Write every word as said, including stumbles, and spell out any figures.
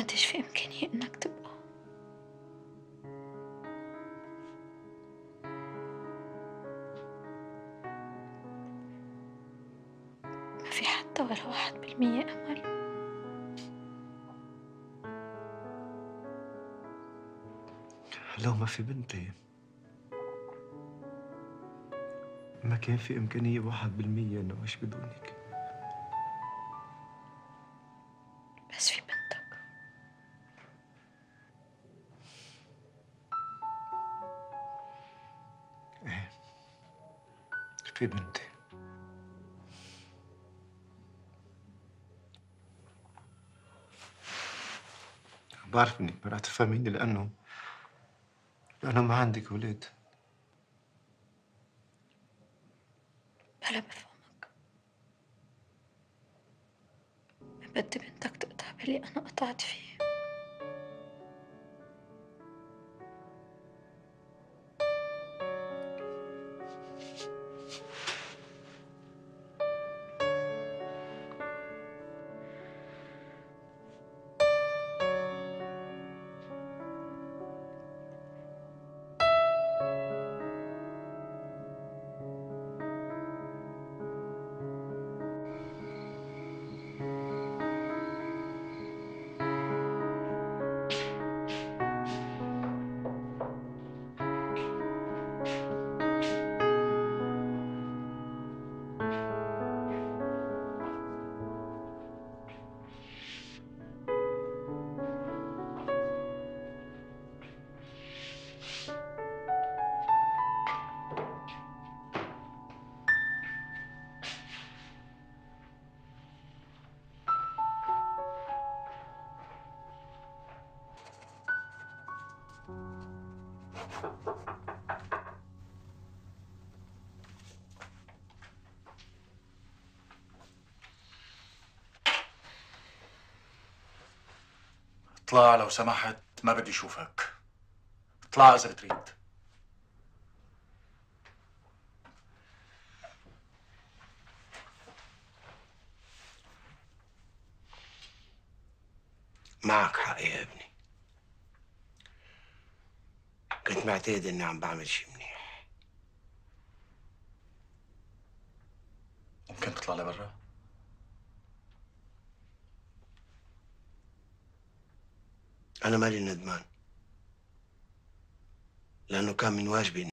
قديش في إمكانية إنك تبقى. ما في حتى ولا واحد بالمية أمل. لو ما في بنتي ما كان في إمكانية واحد بالمية إنه أعيش بدونك. بس في بنتك. إيه، في بنتي. بعرف إنك ما رح تفهميني لأنه لأنه ما عندك ولاد. بلا بفهمك. ما بدي بنتك تقطع باللي أنا قطعت فيه. اطلع لو سمحت، ما بدي اشوفك. اطلع اذا بتريد. معك حق يا ابني. كنت معتقد اني عم بعمل شي منيح. ممكن تطلع لبرا؟ انا مالي ندمان، لانه كان من واجبي